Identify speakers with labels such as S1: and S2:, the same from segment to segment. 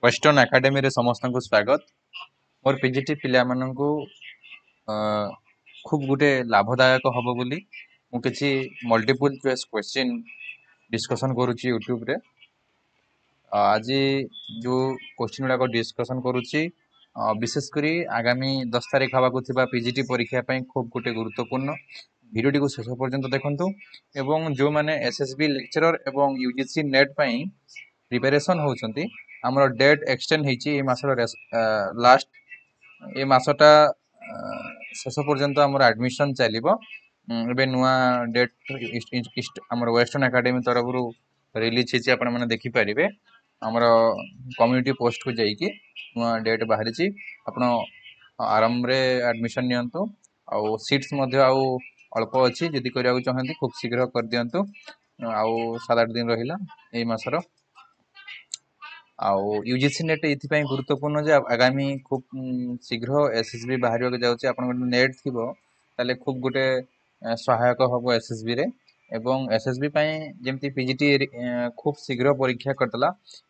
S1: Western ଏକାଡେମୀରେ ସମସ୍ତଙ୍କୁ ସ୍ୱାଗତ। ମୋର ପିଜିଟି ପିଲାମାନଙ୍କୁ ଖୁବ୍ ଗୋଟେ ଲାଭଦାୟକ ହବ ବୋଲି ମୁଁ କିଛି ମଲ୍ଟିପୁଲ୍ ଚଏସ୍ କ୍ୱେଶ୍ଚିନ୍ ଡିସ୍କସନ୍ କରୁଛି ୟୁଟ୍ୟୁବରେ। ଆଜି ଯେଉଁ କ୍ୱେଶ୍ଚିନ୍ ଗୁଡ଼ାକ ଡିସ୍କସନ୍ କରୁଛି, ବିଶେଷ କରି ଆଗାମୀ 10 ତାରିଖ ହେବାକୁ ଥିବା ପିଜିଟି ପରୀକ୍ଷା ପାଇଁ ଖୁବ୍ ଗୋଟେ ଗୁରୁତ୍ୱପୂର୍ଣ୍ଣ। ଭିଡ଼ିଓଟିକୁ ଶେଷ ପର୍ଯ୍ୟନ୍ତ ଦେଖନ୍ତୁ ଏବଂ ଯେଉଁମାନେ ଏସ୍ ଏସ୍ ବି ଲେକ୍ଚରର ଏବଂ ୟୁ ଜି ସି ନେଟ୍ ପାଇଁ ପ୍ରିପାରେସନ୍ ହେଉଛନ୍ତି, ଆମର ଡେଟ୍ ଏକ୍ସଟେଣ୍ଡ ହେଇଛି ଏ ମାସର ଲାଷ୍ଟ, ଏ ମାସଟା ଶେଷ ପର୍ଯ୍ୟନ୍ତ ଆମର ଆଡ଼ମିସନ୍ ଚାଲିବ। ଏବେ ନୂଆ ଡେଟ୍ ଆମର ୱେଷ୍ଟର୍ଣ୍ଣ ଏକାଡେମୀ ତରଫରୁ ରିଲିଜ୍ ହେଇଛି, ଆପଣମାନେ ଦେଖିପାରିବେ। ଆମର କମ୍ୟୁନିଟି ପୋଷ୍ଟକୁ ଯାଇକି ନୂଆ ଡେଟ୍ ବାହାରିଛି, ଆପଣ ଆରାମରେ ଆଡ଼ମିସନ୍ ନିଅନ୍ତୁ। ଆଉ ସିଟ୍ସ ମଧ୍ୟ ଆଉ ଅଳ୍ପ ଅଛି, ଯଦି କରିବାକୁ ଚାହାନ୍ତି ଖୁବ୍ ଶୀଘ୍ର କରିଦିଅନ୍ତୁ। ଆଉ 7-8 ଦିନ ରହିଲା ଏଇ ମାସର। ଆଉ ୟୁ ଜି ସି ନେଟ୍ ଏଇଥିପାଇଁ ଗୁରୁତ୍ୱପୂର୍ଣ୍ଣ ଯେ ଆଗାମୀ ଖୁବ୍ ଶୀଘ୍ର ଏସ୍ ଏସ୍ ବି ବାହାରିବାକୁ ଯାଉଛି। ଆପଣଙ୍କର ନେଟ୍ ଥିବ ତାହେଲେ ଖୁବ୍ ଗୋଟେ ସହାୟକ ହେବ ଏସ୍ ଏସ୍ ବିରେ। ଏବଂ ଏସ୍ ଏସ୍ ବି ପାଇଁ ଯେମିତି ପି ଜି ଟି ଖୁବ୍ ଶୀଘ୍ର ପରୀକ୍ଷା କରିଦେଲା,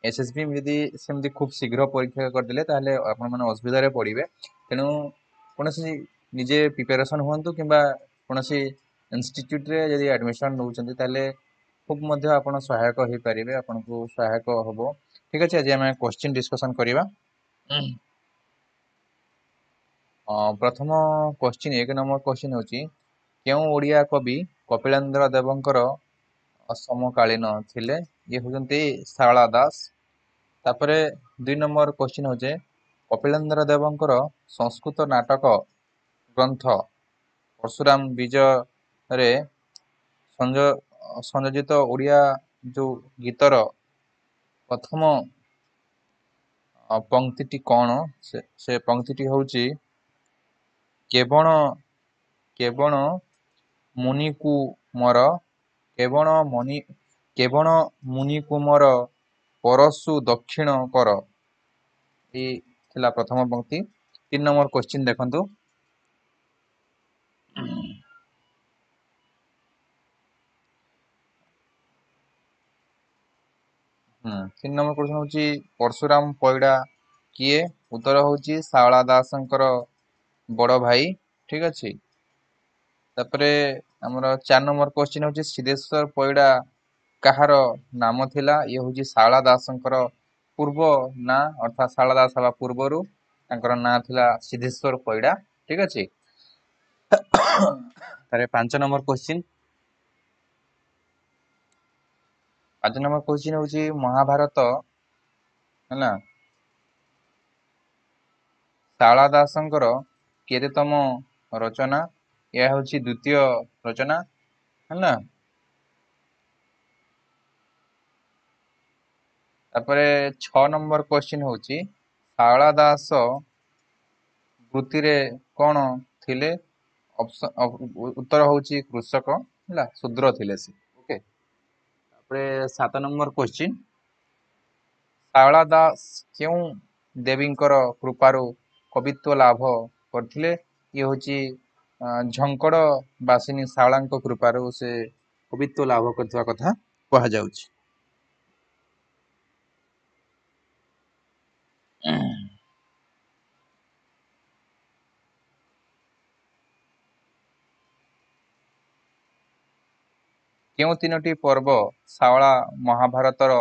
S1: ଏସ୍ ଏସ୍ ବି ଯଦି ସେମିତି ଖୁବ୍ ଶୀଘ୍ର ପରୀକ୍ଷା କରିଦେଲେ ତାହେଲେ ଆପଣମାନେ ଅସୁବିଧାରେ ପଡ଼ିବେ। ତେଣୁ କୌଣସି ନିଜେ ପ୍ରିପାରେସନ୍ ହୁଅନ୍ତୁ କିମ୍ବା କୌଣସି ଇନଷ୍ଟିଚ୍ୟୁଟ୍ରେ ଯଦି ଆଡ଼ମିସନ୍ ନେଉଛନ୍ତି ତାହେଲେ ଖୁବ୍ ମଧ୍ୟ ଆପଣ ସହାୟକ ହେଇପାରିବେ, ଆପଣଙ୍କୁ ସହାୟକ ହେବ। ଠିକ୍ ଅଛି, ଆଜି ଆମେ କ୍ୱେଶ୍ଚିନ୍ ଡିସ୍କସନ୍ କରିବା। ପ୍ରଥମ କ୍ୱେଶ୍ଚିନ୍, 1 ନମ୍ବର କ୍ୱେଶ୍ଚିନ୍ ହେଉଛି, କେଉଁ ଓଡ଼ିଆ କବି କପିଳେନ୍ଦ୍ର ଦେବଙ୍କର ସମକାଳୀନ ଥିଲେ? ଇଏ ହେଉଛନ୍ତି ଶାରଳା ଦାସ। ତାପରେ 2 ନମ୍ବର କ୍ୱେଶ୍ଚିନ୍ ହେଉଛି, କପିଳେନ୍ଦ୍ର ଦେବଙ୍କର ସଂସ୍କୃତ ନାଟକ ଗ୍ରନ୍ଥ ପରଶୁରାମ ବିଜୟରେ ସଂଯୋଜିତ ଓଡ଼ିଆ ଯେଉଁ ଗୀତର ପ୍ରଥମ ପଙ୍କ୍ତିଟି କ'ଣ? ସେ ପଙ୍କ୍ତିଟି ହେଉଛି କେବଣ ମୁନିକୁ ମର, କେବଣ ମନି, କେବଣ ମୁନିକୁ ମର ପରଶୁ ଦକ୍ଷିଣ କର। ଏଇ ଥିଲା ପ୍ରଥମ ପଙ୍କ୍ତି। 3 ନମ୍ବର କ୍ୱେଶ୍ଚିନ୍ ଦେଖନ୍ତୁ। 3 ନମ୍ବର କ୍ୱେଶ୍ଚିନ୍ ହେଉଛି ପରଶୁରାମ ପଇଡ଼ା କିଏ? ଉତ୍ତର ହେଉଛି ଶାରଳା ଦାସଙ୍କର ବଡ଼ ଭାଇ। ଠିକ୍ ଅଛି, ତାପରେ ଆମର 4 ନମ୍ବର କ୍ୱେଶ୍ଚିନ୍ ହେଉଛି ସିଦ୍ଧେଶ୍ୱର ପଇଡ଼ା କାହାର ନାମ ଥିଲା? ଇଏ ହେଉଛି ଶାରଳା ଦାସଙ୍କର ପୂର୍ବ ନାଁ, ଅର୍ଥାତ୍ ଶାରଳା ଦାସ ହେବା ପୂର୍ବରୁ ତାଙ୍କର ନାଁ ଥିଲା ସିଦ୍ଧେଶ୍ୱର ପଇଡ଼ା। ଠିକ୍ ଅଛି, ତାପରେ 5 ନମ୍ବର କ୍ୱେଶ୍ଚିନ୍, 5 ନମ୍ବର କ୍ୱେଶ୍ଚିନ୍ ହେଉଛି ମହାଭାରତ ହେଲା ଶାରଳା ଦାସଙ୍କର କେତେତମ ରଚନା? ଏହା ହେଉଛି ଦ୍ୱିତୀୟ ରଚନା ହେଲା। ତାପରେ 6 ନମ୍ବର କ୍ୱେଶ୍ଚିନ୍ ହେଉଛି ଶାରଳା ଦାସ ବୃତ୍ତିରେ କ'ଣ ଥିଲେ? ଉତ୍ତର ହେଉଛି କୃଷକ ହେଲା, ଶୂଦ୍ର ଥିଲେ ସେ। ଓକେ, ତାପରେ 7 ନମ୍ବର କ୍ୱେଶ୍ଚିନ୍, ଶାରଳା ଦାସ କେଉଁ ଦେବୀଙ୍କର କୃପାରୁ କବିତ୍ୱ ଲାଭ କରିଥିଲେ? ଇଏ ହେଉଛି ଝଙ୍କଡ଼ ବାସିନୀ ଶାରଳାଙ୍କ କୃପାରୁ ସେ କବିତ୍ୱ ଲାଭ କରିଥିବା କଥା କୁହାଯାଉଛି। କେଉଁ 3ଟି ପର୍ବ ଶାରଳା ମହାଭାରତର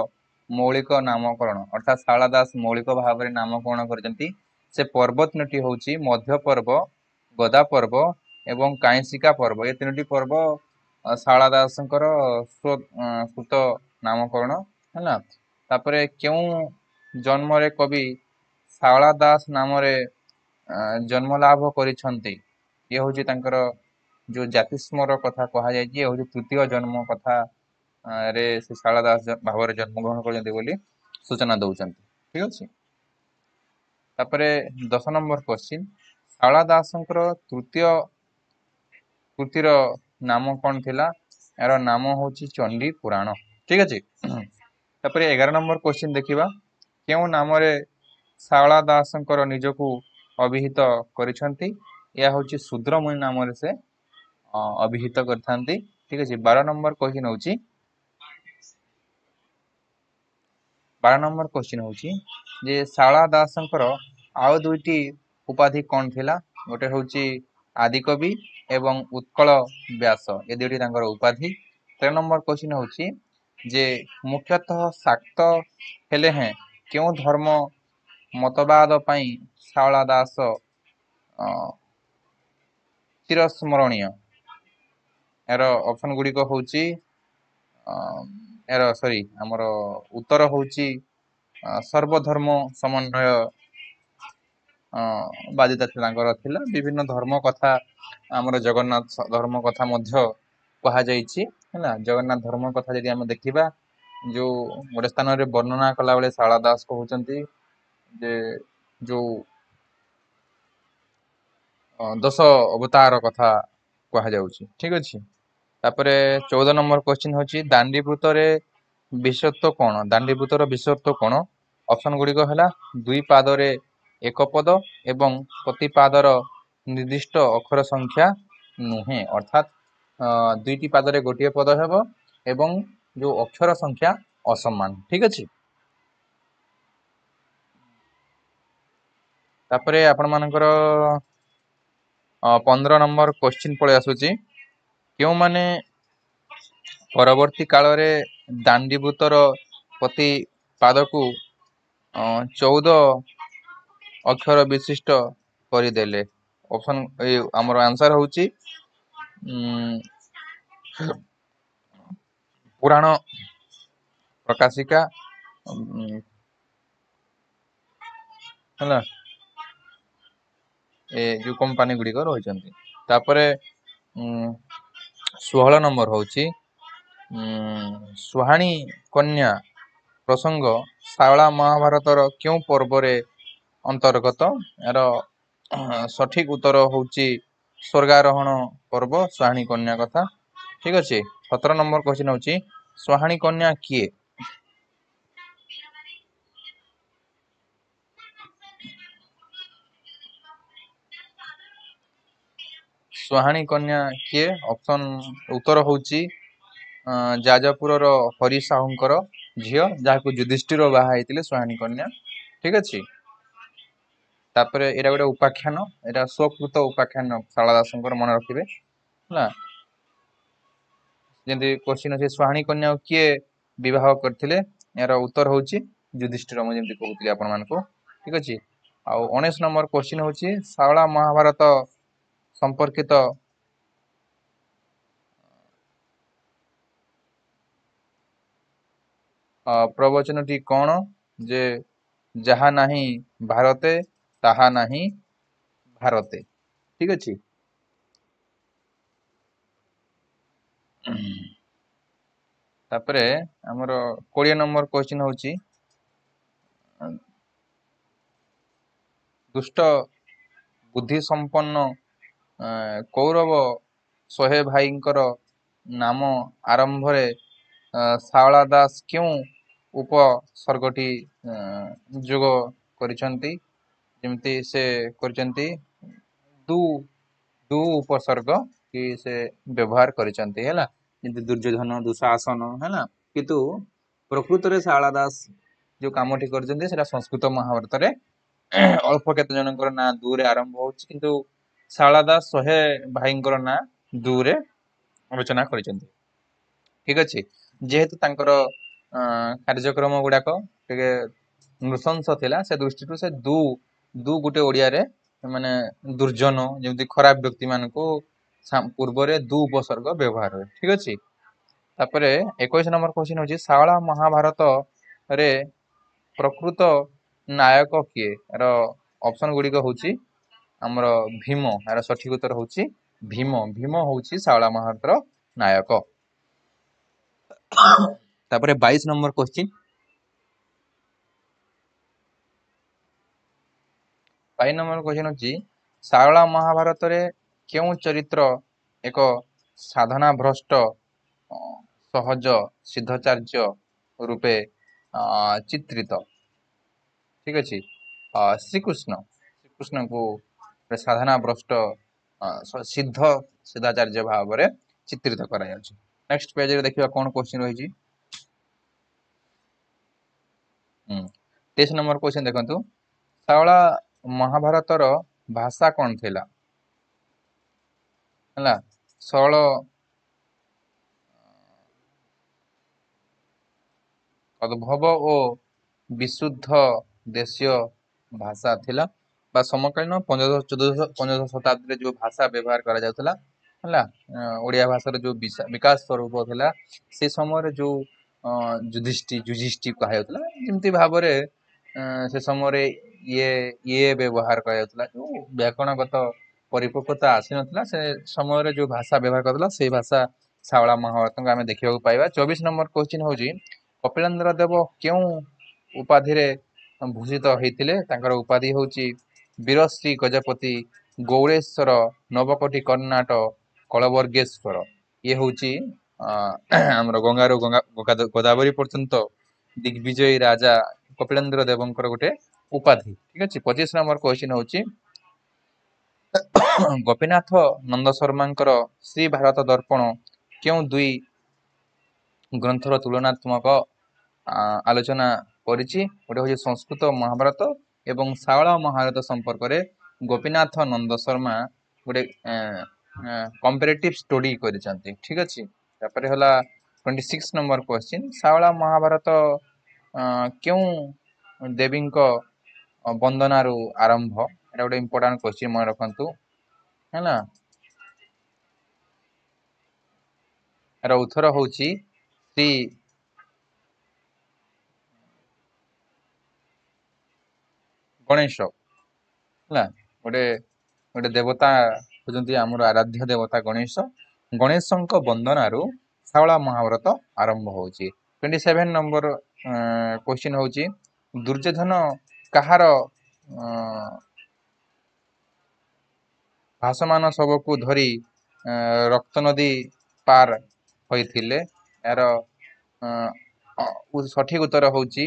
S1: ମୌଳିକ ନାମକରଣ, ଅର୍ଥାତ୍ ଶାରଳା ଦାସ ମୌଳିକ ଭାବରେ ନାମକରଣ କରିଛନ୍ତି? ସେ ପର୍ବ 3ଟି ହେଉଛି ମଧ୍ୟ ପର୍ବ, ଗଦା ପର୍ବ ଏବଂ କାଇଁଶିକା ପର୍ବ। ଏ 3ଟି ପର୍ବ ଶାରଳା ଦାସଙ୍କର ସ୍ୱତ ନାମକରଣ ହେଲା। ତାପରେ କେଉଁ ଜନ୍ମରେ କବି ଶାରଳା ଦାସ ନାମରେ ଜନ୍ମଲାଭ କରିଛନ୍ତି? ଇଏ ହେଉଛି ତାଙ୍କର ଯେଉଁ ଜାତିସ୍ମର କଥା କୁହାଯାଇଛି, ଇଏ ହେଉଛି ତୃତୀୟ ଜନ୍ମ କଥା ରେ ସେ ଶାରଳା ଦାସ ଭାବରେ ଜନ୍ମଗ୍ରହଣ କରିଛନ୍ତି ବୋଲି ସୂଚନା ଦେଉଛନ୍ତି। ଠିକ୍ ଅଛି, ତାପରେ 10 ନମ୍ବର କ୍ୱେଶ୍ଚିନ୍, ଶାରଳା ଦାସଙ୍କର ତୃତୀୟ କୃତିର ନାମ କ'ଣ ଥିଲା? ଏହାର ନାମ ହେଉଛି ଚଣ୍ଡୀ ପୁରାଣ। ଠିକ୍ ଅଛି, ତାପରେ 11 ନମ୍ବର କ୍ୱେଶ୍ଚିନ୍ ଦେଖିବା, କେଉଁ ନାମରେ ଶାରଳା ଦାସଙ୍କର ନିଜକୁ ଅଭିହିତ କରିଛନ୍ତି? ଏହା ହେଉଛି ଶୂଦ୍ରମୁନି ନାମରେ ସେ ଅଭିହିତ କରିଥାନ୍ତି। ଠିକ୍ ଅଛି, 12 ନମ୍ବର କ୍ୱେଶ୍ଚିନ୍ ହେଉଛି 12 ନମ୍ବର କ୍ୱେଶ୍ଚିନ୍ ହେଉଛି ଯେ ଶାରଳା ଦାସଙ୍କର ଆଉ ଦୁଇଟି ଉପାଧି କ'ଣ ଥିଲା? ଗୋଟେ ହେଉଛି ଆଦିକବି ଏବଂ ଉତ୍କଳ ବ୍ୟାସ, ଏ ଦୁଇଟି ତାଙ୍କର ଉପାଧି। 13 ନମ୍ବର କ୍ୱେଶ୍ଚିନ୍ ହେଉଛି ଯେ ମୁଖ୍ୟତଃ ଶାକ୍ତ ହେଲେ ହେଁ କେଉଁ ଧର୍ମ ମତବାଦ ପାଇଁ ଶାରଳା ଦାସ ଚିରସ୍ମରଣୀୟ? ଏହାର ଅପସନ୍ ଗୁଡ଼ିକ ହେଉଛି, ଏହାର ସରି ଆମର ଉତ୍ତର ହେଉଛି ସର୍ବଧର୍ମ ସମନ୍ୱୟ ବାଦିତା ତାଙ୍କର ଥିଲା। ବିଭିନ୍ନ ଧର୍ମ କଥା, ଆମର ଜଗନ୍ନାଥ ଧର୍ମ କଥା ମଧ୍ୟ କୁହାଯାଇଛି ହେଲା। ଜଗନ୍ନାଥ ଧର୍ମ କଥା ଯଦି ଆମେ ଦେଖିବା, ଯୋଉ ଗୋଟେ ସ୍ଥାନରେ ବର୍ଣ୍ଣନା କଲାବେଳେ ଶାରଳା ଦାସ କହୁଛନ୍ତି ଯେ ଯୋଉ ଦଶ ଅବତାର କଥା କୁହାଯାଉଛି, ଠିକ ଅଛି। ତାପରେ 14 ନମ୍ବର କ୍ୱେଶ୍ଚିନ୍ ହେଉଛି ଦାଣ୍ଡିବୃତ୍ତରେ ବିଶେଷତ୍ୱ କ'ଣ? ଦାଣ୍ଡିବୃତ୍ତର ବିଶେଷତ୍ୱ କ'ଣ? ଅପସନ୍ ଗୁଡ଼ିକ ହେଲା ଦୁଇ ପାଦରେ ଏକ ପଦ ଏବଂ ପ୍ରତି ପାଦର ନିର୍ଦ୍ଦିଷ୍ଟ ଅକ୍ଷର ସଂଖ୍ୟା ନୁହେଁ, ଅର୍ଥାତ୍ ଦୁଇଟି ପାଦରେ ଗୋଟିଏ ପଦ ହେବ ଏବଂ ଯୋଉ ଅକ୍ଷର ସଂଖ୍ୟା ଅସମାନ, ଠିକ ଅଛି। ତାପରେ ଆପଣମାନଙ୍କର 15 ନମ୍ବର କ୍ୱେଶ୍ଚିନ୍ ପଳେଇ ଆସୁଛି, କେଉଁମାନେ ପରବର୍ତ୍ତୀ କାଳରେ ଦାଣ୍ଡିବୃତ୍ତର ପ୍ରତି ପାଦକୁ 14 ଅକ୍ଷର ବିଶିଷ୍ଟ କରିଦେଲେ? ଅପସନ୍ ଏ ଆମର ଆନ୍ସର ହେଉଛି ପୁରାଣ ପ୍ରକାଶିକା ହେଲା, ଏ ଯୋଉ କମ୍ପାନୀ ଗୁଡ଼ିକ ରହିଛନ୍ତି। ତାପରେ 16 ନମ୍ବର ହେଉଛି ସୁହାଣୀ କନ୍ୟା ପ୍ରସଙ୍ଗ ଶାରଳା ମହାଭାରତର କେଉଁ ପର୍ବରେ ଅନ୍ତର୍ଗତ? ଏହାର ସଠିକ ଉତ୍ତର ହେଉଛି ସ୍ୱର୍ଗାରୋହଣ ପର୍ବ, ସୁହାଣୀ କନ୍ୟା କଥା, ଠିକ ଅଛି। 17 ନମ୍ବର କ୍ୱେଶ୍ଚିନ୍ ହେଉଛି ସୁହାଣୀ କନ୍ୟା କିଏ? ସୁହାଣୀ କନ୍ୟା କିଏ? ଅପସନ୍ ଉତ୍ତର ହେଉଛି ଯାଜପୁରର ହରି ସାହୁଙ୍କର ଝିଅ, ଯାହାକୁ ଯୁଧିଷ୍ଠିର ବାହା ହେଇଥିଲେ, ସୁହାଣୀ କନ୍ୟା, ଠିକ ଅଛି। ତାପରେ ଏଇଟା ଗୋଟେ ଉପାଖ୍ୟାନ, ଏଇଟା ସ୍ୱକୃତ ଉପାଖ୍ୟାନ ଶାରଳା ଦାସଙ୍କର, ମନେ ରଖିବେ ହେଲା। ଯେମିତି କ୍ୱେଶ୍ଚିନ୍ ଅଛି ସୁହାଣୀ କନ୍ୟାକୁ କିଏ ବିବାହ କରିଥିଲେ? ଏହାର ଉତ୍ତର ହେଉଛି ଯୁଧିଷ୍ଠିର, ମୁଁ ଯେମିତି କହୁଥିଲି ଆପଣମାନଙ୍କୁ, ଠିକ ଅଛି। ଆଉ 19 ନମ୍ବର କ୍ୱେଶ୍ଚିନ୍ ହେଉଛି ଶାରଳା ମହାଭାରତ ସମ୍ପର୍କିତ ପ୍ରବଚନଟି କ'ଣ? ଯେ ଯାହା ନାହିଁ ଭାରତେ ତାହା ନାହିଁ ଭାରତେ, ଠିକ ଅଛି। ତାପରେ ଆମର 20 ନମ୍ବର କ୍ୱେଶ୍ଚିନ୍ ହେଉଛି ଦୁଷ୍ଟ ବୁଦ୍ଧି ସମ୍ପନ୍ନ କୌରବ 100 ଭାଇଙ୍କର ନାମ ଆରମ୍ଭରେ ଶାରଳା ଦାସ କେଉଁ ଉପସର୍ଗଟି ଯୋଗ କରିଛନ୍ତି? ଯେମିତି ସେ କରିଛନ୍ତି ଦୁ, ଦୁ ଉପସର୍ଗ କି ସେ ବ୍ୟବହାର କରିଛନ୍ତି ହେଲା, ଯେମିତି ଦୁର୍ଯ୍ୟୋଧନ, ଦୁଃଶାସନ ହେଲା। କିନ୍ତୁ ପ୍ରକୃତରେ ଶାରଳା ଦାସ ଯୋଉ କାମଟି କରିଛନ୍ତି ସେଟା ସଂସ୍କୃତ ମହାଭାରତରେ ଅଳ୍ପ କେତେ ଜଣଙ୍କର ନାଁ ଦୂରେ ଆରମ୍ଭ ହଉଛି, କିନ୍ତୁ ଶାରଳା ଦାସ 100 ଭାଇଙ୍କର ନାଁ ଦୂରେ ରଚନା କରିଛନ୍ତି, ଠିକ ଅଛି। ଯେହେତୁ ତାଙ୍କର କାର୍ଯ୍ୟକ୍ରମ ଗୁଡାକ ଟିକେ ନୃଶଂସ ଥିଲା, ସେ ଦୃଷ୍ଟିରୁ ସେ ଦୁ, ଦୁ ଗୋଟେ ଓଡ଼ିଆରେ ମାନେ ଦୁର୍ଜନ, ଯେମିତି ଖରାପ ବ୍ୟକ୍ତି ମାନଙ୍କୁ ପୂର୍ବରେ ଦୁ ଉପସର୍ଗ ବ୍ୟବହାର ହୁଏ, ଠିକ ଅଛି। ତାପରେ 21 ନମ୍ବର କ୍ୱେଶ୍ଚିନ୍ ହେଉଛି ଶାରଳା ମହାଭାରତରେ ପ୍ରକୃତ ନାୟକ କିଏ? ଏହାର ଅପସନ୍ ଗୁଡ଼ିକ ହେଉଛି ଆମର ଭୀମ, ଏହାର ସଠିକ ଉତ୍ତର ହେଉଛି ଭୀମ। ଭୀମ ହେଉଛି ଶାରଳା ମହାଭାରତର ନାୟକ। ତାପରେ 22 ନମ୍ବର କ୍ୱେଶ୍ଚିନ୍, 22 ନମ୍ବର କ୍ୱେଶ୍ଚିନ୍ ହେଉଛି ଶାରଳା ମହାଭାରତରେ କେଉଁ ଚରିତ୍ର ଏକ ସାଧନା ଭ୍ରଷ୍ଟ ସହଜ ସିଦ୍ଧାଚାର୍ଯ୍ୟ ରୂପେ ଚିତ୍ରିତ? ଠିକ ଅଛି, ଶ୍ରୀକୃଷ୍ଣ, ଶ୍ରୀକୃଷ୍ଣଙ୍କୁ ସାଧନା ଭ୍ରଷ୍ଟ ସିଦ୍ଧ ସିଦ୍ଧାଚାର୍ଯ୍ୟ ଭାବରେ ଚିତ୍ରିତ କରାଯାଉଛି। ନେକ୍ସଟ ପେଜରେ ଦେଖିବା କ'ଣ କ୍ୱେଶ୍ଚିନ୍ ରହିଛି। 23 ନମ୍ବର କ୍ୱେଶ୍ଚନ ଦେଖନ୍ତୁ, ଶାରଳା ମହାଭାରତର ଭାଷା କ'ଣ ଥିଲା? ହେଲା, ସରଳ ତଦ୍ଭବ ଓ ବିଶୁଦ୍ଧ ଦେଶୀୟ ଭାଷା ଥିଲା, ବା ସମକାଳୀନ ପଞ୍ଚଦଶ ଚତୁର୍ଦ୍ଦଶ ପଞ୍ଚଦଶ ଶତାବ୍ଦୀରେ ଯୋଉ ଭାଷା ବ୍ୟବହାର କରାଯାଉଥିଲା, ହେଲା, ଓଡ଼ିଆ ଭାଷାର ଯୋଉ ବିକାଶ ସ୍ୱରୂପ ଥିଲା ସେ ସମୟରେ ଯୋଉ ଯୁଧିଷ୍ଠି କୁହାଯାଉଥିଲା, ଯେମିତି ଭାବରେ ସେ ସମୟରେ ଇଏ ବ୍ୟବହାର କରାଯାଉଥିଲା, ଯୋଉ ବ୍ୟାକରଣଗତ ପରିପକ୍ୱତା ଆସିନଥିଲା ସେ ସମୟରେ ଯୋଉ ଭାଷା ବ୍ୟବହାର କରାଯାଉଥିଲା ସେଇ ଭାଷା ଶାରଳା ମହାଭାରତଙ୍କୁ ଆମେ ଦେଖିବାକୁ ପାଇବା। 24 ନମ୍ବର କ୍ୱେଶ୍ଚିନ୍ ହଉଛି କପିଳେନ୍ଦ୍ର ଦେବ କେଉଁ ଉପାଧିରେ ଭୂଷିତ ହେଇଥିଲେ? ତାଙ୍କର ଉପାଧି ହଉଛି ବୀରଶ୍ରୀ ଗଜପତି ଗୌଡ଼େଶ୍ୱର ନବକୋଟି କର୍ଣ୍ଣାଟ କଳବର୍ଗେଶ୍ୱର। ଇଏ ହଉଛି ଆମର ଗଙ୍ଗାରୁ ଗୋଦାବରୀ ପର୍ଯ୍ୟନ୍ତ ଦିଗ୍ବିଜୟୀ ରାଜା କପିଳେନ୍ଦ୍ର ଦେବଙ୍କର ଗୋଟେ ଉପାଧି। ଠିକ ଅଛି, 25 ନମ୍ବର କ୍ୱେଶ୍ଚିନ୍ ହଉଛି ଗୋପୀନାଥ ନନ୍ଦ ଶର୍ମାଙ୍କର ଶ୍ରୀ ଭାରତ ଦର୍ପଣ କେଉଁ ଦୁଇ ଗ୍ରନ୍ଥର ତୁଳନାତ୍ମକ ଆଲୋଚନା କରିଛି? ଗୋଟେ ହଉଛି ସଂସ୍କୃତ ମହାଭାରତ ଏବଂ ଶାରଳା ମହାଭାରତ ସମ୍ପର୍କରେ ଗୋପୀନାଥ ନନ୍ଦ ଶର୍ମା ଗୋଟେ କମ୍ପାରେଟିଭ ଷ୍ଟଡି କରିଛନ୍ତି। ଠିକ ଅଛି, ତାପରେ ହେଲା 26 ନମ୍ବର କ୍ୱେଶ୍ଚିନ୍, ଶାରଳା ମହାଭାରତ କେଉଁ ଦେବୀଙ୍କ ବନ୍ଦନାରୁ ଆରମ୍ଭ? ଏଟା ଗୋଟେ ଇମ୍ପୋର୍ଟାଣ୍ଟ କ୍ୱେଶ୍ଚିନ୍, ମନେ ରଖନ୍ତୁ, ହେଲା। ଏର ଉତ୍ତର ହଉଛି ଶ୍ରୀ ଗଣେଶ। ହେଲା, ଗୋଟେ ଦେବତା ହଉଛନ୍ତି ଆମର ଆରାଧ୍ୟ ଦେବତା ଗଣେଶ। ଗଣେଶଙ୍କ ବନ୍ଦନାରୁ ଶାରଳା ମହାଭାରତ ଆରମ୍ଭ ହଉଛି। 27 ନମ୍ବର କ୍ୱେଶ୍ଚିନ୍ ହଉଛି ଦୁର୍ଯ୍ୟୋଧନ କାହାର ଭାସମାନ ଶବକୁ ଧରି ରକ୍ତ ନଦୀ ପାର ହୋଇଥିଲେ? ଏହାର ସଠିକ ଉତ୍ତର ହଉଛି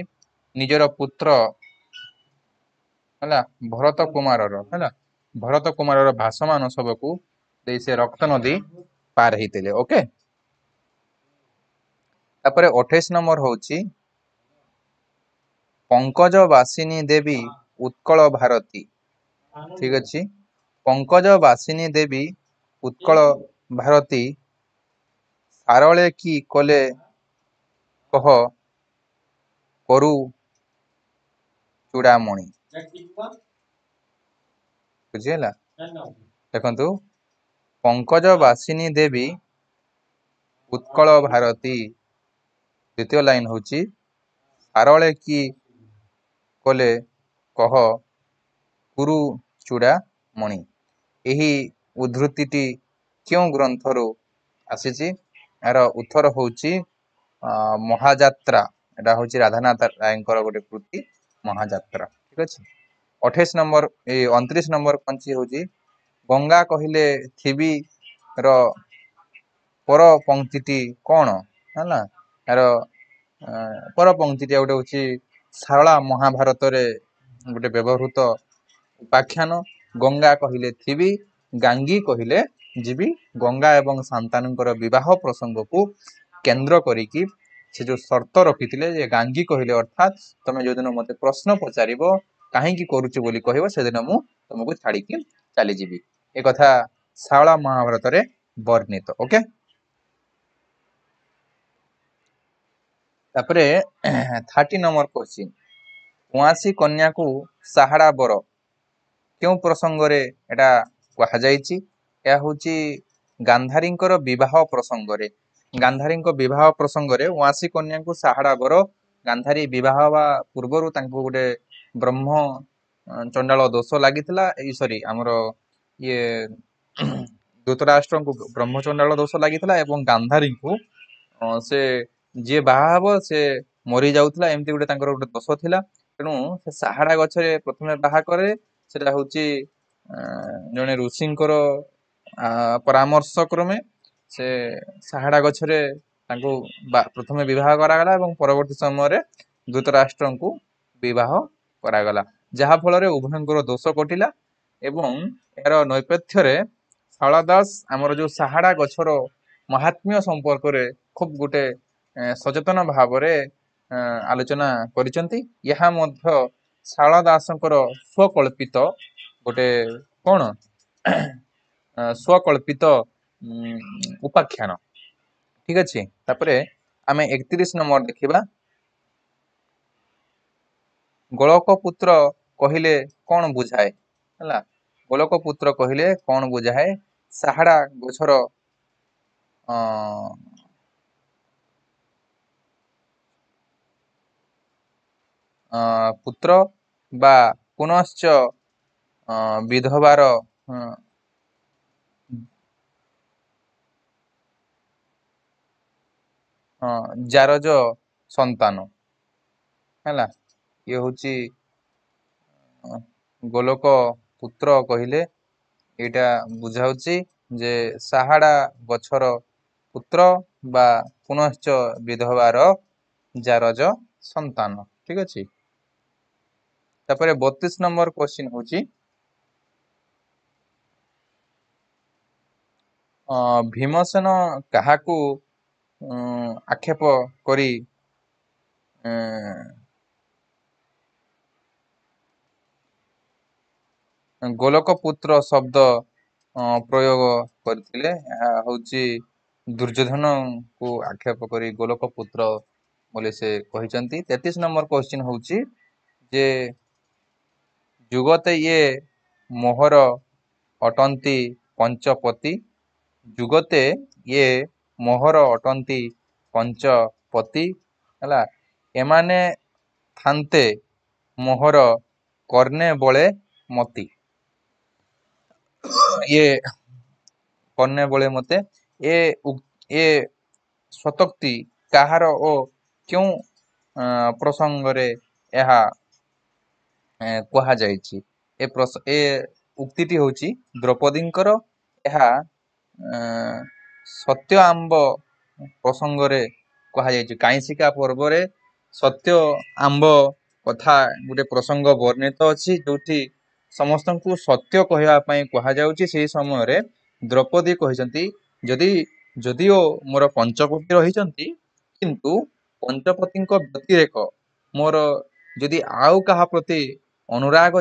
S1: ନିଜର ପୁତ୍ର, ହେଲା, ଭରତ କୁମାରର, ହେଲା, ଭରତ କୁମାରର ଭାସମାନ ଶବକୁ ଦେଇ ସେ ରକ୍ତ ନଦୀ ପାର ହେଇଥିଲେ। ଓକେ, ତାପରେ 28 ନମ୍ବର ହଉଛି ପଙ୍କଜ ବାସିନୀ ଦେବୀ ଉତ୍କଳ ଭାରତୀ। ଠିକ ଅଛି, ପଙ୍କଜ ବାସିନୀ ଦେବୀ ଉତ୍କଳ ଭାରତୀ ସାରଳେ କି କଲେ କହ କରୁ ଚୂଡ଼ାମଣି। ବୁଝିହେଲା? ଦେଖନ୍ତୁ, ପଙ୍କଜ ବାସିନୀ ଦେବୀ ଉତ୍କଳ ଭାରତୀ, ଦ୍ୱିତୀୟ ଲାଇନ ହଉଛି ସାରଳେ କି କଲେ କହ କୁରୁ ଚୂଡ଼ାମଣି। ଏହି ଉଦ୍ଧୃତିଟି କେଉଁ ଗ୍ରନ୍ଥରୁ ଆସିଛି? ଏହାର ଉତ୍ତର ହଉଛି ମହାଯାତ୍ରା। ଏଟା ହଉଛି ରାଧାନାଥ ରାୟଙ୍କର ଗୋଟେ କୃତି ମହାଯାତ୍ରା। ଠିକ ଅଛି, 28 ନମ୍ବର, ଏଇ 29 ନମ୍ବର କଞ୍ଚି ହଉଛି ଗଙ୍ଗା କହିଲେ ଥିବି ର ପର ପଙ୍କ୍ତିଟି କଣ? ହେଲା, ଏହାର ପର ପଙ୍କ୍ତିଟି ଗୋଟେ ହଉଛି ଶାରଳା ମହାଭାରତରେ ଗୋଟେ ବ୍ୟବହୃତ ଉପାଖ୍ୟାନ। ଗଙ୍ଗା କହିଲେ ଥିବି, ଗାଙ୍ଗୀ କହିଲେ ଯିବି। ଗଙ୍ଗା ଏବଂ ଶାନ୍ତାନୁଙ୍କର ବିବାହ ପ୍ରସଙ୍ଗକୁ କେନ୍ଦ୍ର କରିକି ସେ ଯୋଉ ସର୍ତ୍ତ ରଖିଥିଲେ ଯେ ଗାଙ୍ଗୀ କହିଲେ, ଅର୍ଥାତ୍ ତମେ ଯୋଉଦିନ ମତେ ପ୍ରଶ୍ନ ପଚାରିବ କାହିଁକି କରୁଛୁ ବୋଲି କହିବ, ସେଦିନ ମୁଁ ତମକୁ ଛାଡିକି ଚାଲିଯିବି। ଏ କଥା ଶାରଳା ମହାଭାରତରେ ବର୍ଣ୍ଣିତ। ଓକେ, ତାପରେ 30 ନମ୍ବର କ୍ୱେଶ୍ଚିନ୍, ଉଆଁସି କନ୍ୟାକୁ ସାହାଡ଼ା ବର କେଉଁ ପ୍ରସଙ୍ଗରେ ଏଟା କୁହାଯାଇଛି? ଏହା ହଉଛି ଗାନ୍ଧାରୀଙ୍କର ବିବାହ ପ୍ରସଙ୍ଗରେ। ଗାନ୍ଧାରୀଙ୍କ ବିବାହ ପ୍ରସଙ୍ଗରେ ଉଆଁସି କନ୍ୟାଙ୍କୁ ସାହାଡ଼ା ବର, ଗାନ୍ଧାରୀ ବିବାହ ହେବା ପୂର୍ବରୁ ତାଙ୍କୁ ଗୋଟେ ବ୍ରହ୍ମ ଚଣ୍ଡାଳ ଦୋଷ ଲାଗିଥିଲା, ଏଇ ସରି ଆମର ଇଏ ଧୃତରାଷ୍ଟ୍ରଙ୍କୁ ବ୍ରହ୍ମଚଣ୍ଡାଳ ଦୋଷ ଲାଗିଥିଲା ଏବଂ ଗାନ୍ଧାରୀଙ୍କୁ ସେ ଯିଏ ବାହା ହବ ସେ ମରି ଯାଉଥିଲା, ଏମିତି ଗୋଟେ ତାଙ୍କର ଗୋଟେ ଦୋଷ ଥିଲା। ତେଣୁ ସେ ସାହାଡ଼ା ଗଛରେ ପ୍ରଥମେ ବାହା କରେ, ସେଟା ହଉଛି ଜଣେ ଋଷିଙ୍କର ପରାମର୍ଶ କ୍ରମେ ସେ ସାହାଡ଼ା ଗଛରେ ତାଙ୍କୁ ପ୍ରଥମେ ବିବାହ କରାଗଲା ଏବଂ ପରବର୍ତ୍ତୀ ସମୟରେ ଧୃତରାଷ୍ଟ୍ରଙ୍କୁ ବିବାହ କରାଗଲା, ଯାହା ଫଳରେ ଉଭୟଙ୍କର ଦୋଷ କଟିଲା। ଏବଂ ଏହାର ନୈପଥ୍ୟରେ ଶାରଳା ଦାସ ଆମର ଯୋଉ ସାହାଡ଼ା ଗଛର ମହାତ୍ମ୍ୟ ସମ୍ପର୍କରେ ଖୁବ ଗୋଟେ ସଚେତନ ଭାବରେ ଆଲୋଚନା କରିଛନ୍ତି। ଏହା ମଧ୍ୟ ଶାରଳା ଦାସଙ୍କର ସ୍ୱକଳ୍ପିତ ଗୋଟେ କ'ଣ ସ୍ୱକଳ୍ପିତ ଉପାଖ୍ୟାନ। ଠିକ ଅଛି, ତାପରେ ଆମେ 31 ନମ୍ବର ଦେଖିବା। ଗୋଳକ ପୁତ୍ର କହିଲେ କ'ଣ ବୁଝାଏ? ହେଲା, ଗୋଲକ ପୁତ୍ର କହିଲେ କ'ଣ ବୁଝାଏ? ସାହାଡ଼ା ଗଛର ପୁତ୍ର ବା ପୁନଶ୍ଚ ବିଧବାର ଜାରଜ ସନ୍ତାନ। ହେଲା, ଇଏ ହଉଛି ଗୋଲକ ପୁତ୍ର କହିଲେ ଏଇଟା ବୁଝାଉଛି ଯେ ସାହାଡ଼ା ଗଛର ପୁତ୍ର ବା ପୁନଶ୍ଚ ବିଧବାର ଜାରଜ ସନ୍ତାନ। ଠିକ ଅଛି, ତାପରେ 32 ନମ୍ବର କ୍ୱେଶ୍ଚିନ୍ ହଉଛି ଭୀମସେନ କାହାକୁ ଆକ୍ଷେପ କରି ଗୋଲକ ପୁତ୍ର ଶବ୍ଦ ପ୍ରୟୋଗ କରିଥିଲେ? ଏହା ହଉଛି ଦୁର୍ଯ୍ୟୋଧନକୁ ଆକ୍ଷେପ କରି ଗୋଲକ ପୁତ୍ର ବୋଲି ସେ କହିଛନ୍ତି। 33 ନମ୍ବର କ୍ୱେଶ୍ଚିନ୍ ହଉଛି ଯେ ଯୁଗତେ ଇଏ ମୋହର ଅଟନ୍ତି ପଞ୍ଚପତି, ଯୁଗତେ ଇଏ ମୋହର ଅଟନ୍ତି ପଞ୍ଚପତି। ହେଲା, ଏମାନେ ଥାନ୍ତେ ମୋହର କର୍ଣ୍ଣେ ବଳେ ମତି, ଇଏ କର୍ଣ୍ଣେ ବଳେ ମତେ। ଏ ସ୍ୱତୋକ୍ତି କାହାର ଓ କେଉଁ ପ୍ରସଙ୍ଗରେ ଏହା କୁହାଯାଇଛି? ଏ ଉକ୍ତିଟି ହେଉଛି ଦ୍ରୌପଦୀଙ୍କର। ଏହା ସତ୍ୟ ଆମ୍ବ ପ୍ରସଙ୍ଗରେ କୁହାଯାଇଛି। କାଇଁଶିକା ପର୍ବରେ ସତ୍ୟ ଆମ୍ବ କଥା ଗୋଟେ ପ୍ରସଙ୍ଗ ବର୍ଣ୍ଣିତ ଅଛି, ଯୋଉଠି ସମସ୍ତଙ୍କୁ ସତ୍ୟ କହିବା ପାଇଁ କୁହାଯାଉଛି। ସେହି ସମୟରେ ଦ୍ରୌପଦୀ କହିଛନ୍ତି, ଯଦିଓ ମୋର ପଞ୍ଚପତି ରହିଛନ୍ତି, କିନ୍ତୁ ପଞ୍ଚପତିଙ୍କ ବ୍ୟତିରେକ ମୋର ଯଦି ଆଉ କାହା ପ୍ରତି ଅନୁରାଗ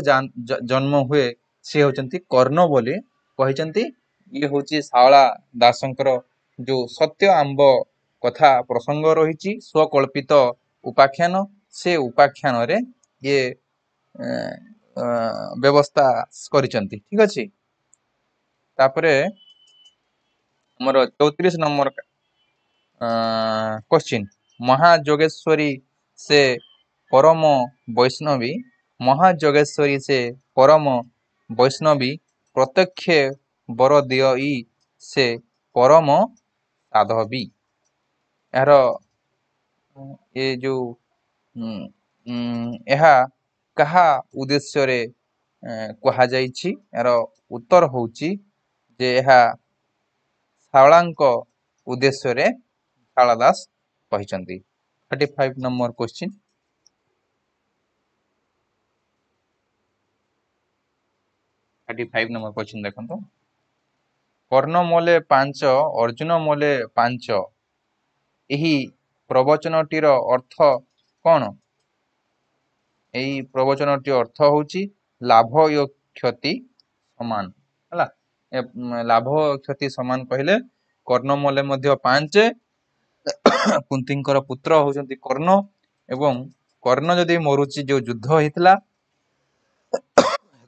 S1: ଜନ୍ମ ହୁଏ, ସେ ହେଉଛନ୍ତି କର୍ଣ୍ଣ ବୋଲି କହିଛନ୍ତି। ଇଏ ହଉଛି ଶାରଳା ଦାସଙ୍କର ଯୋଉ ସତ୍ୟ ଆମ୍ବ କଥା ପ୍ରସଙ୍ଗ ରହିଛି, ସ୍ୱକଳ୍ପିତ ଉପାଖ୍ୟାନ, ସେ ଉପାଖ୍ୟାନରେ ଇଏ ବ୍ୟବସ୍ଥା କରିଛନ୍ତି। ଠିକ ଅଛି, ତାପରେ ଆମର 34 ନମ୍ବର କ୍ୱେଶ୍ଚିନ୍, ମହାଯୋଗେଶ୍ୱରୀ ସେ ପରମ ବୈଷ୍ଣବୀ, ମହାଯୋଗେଶ୍ୱରୀ ସେ ପରମ ବୈଷ୍ଣବୀ ପ୍ରତ୍ୟକ୍ଷେ ବର ଦିଅଇ ସେ ପରମ ସାଧବୀ। ଏହାର ଏ ଯୋଉ ଏହା କାହା ଉଦ୍ଦେଶ୍ୟରେ କୁହାଯାଇଛି? ଏହାର ଉତ୍ତର ହଉଛି ଯେ ଏହା ଶାରଳାଙ୍କ ଉଦ୍ଦେଶ୍ୟରେ ଶାରଳା ଦାସ କହିଛନ୍ତି। 35 ନମ୍ବର କ୍ୱେଶ୍ଚିନ୍, 35 ନମ୍ବର କ୍ୱେଶ୍ଚିନ୍ ଦେଖନ୍ତୁ। କର୍ଣ୍ଣ ମୋଲେ 5, ଅର୍ଜୁନ ମୋଲେ 5, ଏହି ପ୍ରବଚନଟିର ଅର୍ଥ କ'ଣ? ଏହି ପ୍ରବଚନଟି ଅର୍ଥ ହଉଛି ଲାଭ ଓ କ୍ଷତି ସମାନ। ହେଲା, ଲାଭ ଓ କ୍ଷତି ସମାନ କହିଲେ କର୍ଣ୍ଣ ମୋଲେ ମଧ୍ୟ 5, କୁନ୍ତୀଙ୍କର ପୁତ୍ର ହଉଛନ୍ତି କର୍ଣ୍ଣ, ଏବଂ କର୍ଣ୍ଣ ଯଦି ମରୁଛି, ଯୋଉ ଯୁଦ୍ଧ ହେଇଥିଲା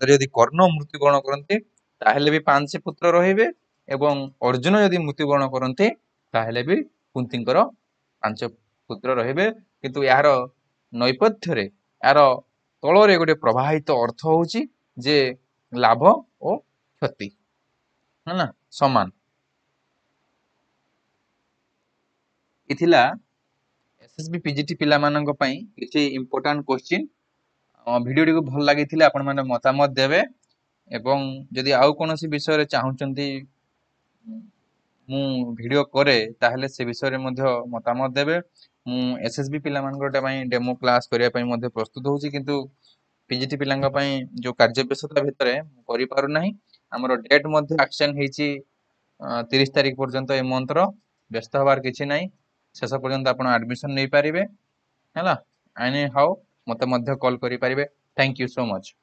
S1: ଯଦି କର୍ଣ୍ଣ ମୃତ୍ୟୁବରଣ କରନ୍ତି ତାହେଲେ ବି 5 ପୁତ୍ର ରହିବେ, ଏବଂ ଅର୍ଜୁନ ଯଦି ମୃତ୍ୟୁବରଣ କରନ୍ତି ତାହେଲେ ବି କୁନ୍ତୀଙ୍କର 5 ପୁତ୍ର ରହିବେ। କିନ୍ତୁ ଏହାର ନୈପଥ୍ୟରେ, ଏହାର ତଳରେ ଗୋଟେ ପ୍ରବାହିତ ଅର୍ଥ ହଉଛି ଯେ ଲାଭ ଓ କ୍ଷତି ହେଲା ସମାନ। ଏ ଥିଲା ଏସ୍ଏସ୍ବି ପିଜିଟି ପିଲାମାନଙ୍କ ପାଇଁ କିଛି ଇମ୍ପୋର୍ଟାଣ୍ଟ କ୍ୱେଶ୍ଚିନ୍। ଭିଡ଼ିଓଟିକୁ ଭଲ ଲାଗିଥିଲେ ଆପଣମାନେ ମତାମତ ଦେବେ, ଏବଂ ଯଦି ଆଉ କୌଣସି ବିଷୟରେ ଚାହୁଁଛନ୍ତି ମୁଁ ଭିଡ଼ିଓ କରେ ତାହେଲେ ସେ ବିଷୟରେ ମଧ୍ୟ ମତାମତ ଦେବେ। ମୁଁ ଏସ୍ଏସ୍ବି ପିଲାମାନଙ୍କର ପାଇଁ ଡେମୋ କ୍ଲାସ୍ କରିବା ପାଇଁ ମଧ୍ୟ ପ୍ରସ୍ତୁତ ହେଉଛି, କିନ୍ତୁ ପିଜିଟି ପିଲାଙ୍କ ପାଇଁ ଯୋଉ କାର୍ଯ୍ୟବ୍ୟସ୍ତତା ଭିତରେ ମୁଁ କରିପାରୁନାହିଁ। ଆମର ଡେଟ୍ ମଧ୍ୟ ଆକ୍ସନ୍ ହେଇଛି 30 ତାରିଖ ପର୍ଯ୍ୟନ୍ତ ଏ ମନ୍ଥର। ବ୍ୟସ୍ତ ହେବାର କିଛି ନାହିଁ, ଶେଷ ପର୍ଯ୍ୟନ୍ତ ଆପଣ ଆଡ଼ମିସନ୍ ନେଇପାରିବେ। ହେଲା, ଏନି ହାଉ ମୋତେ ମଧ୍ୟ କଲ୍ କରିପାରିବେ। Thank you so much.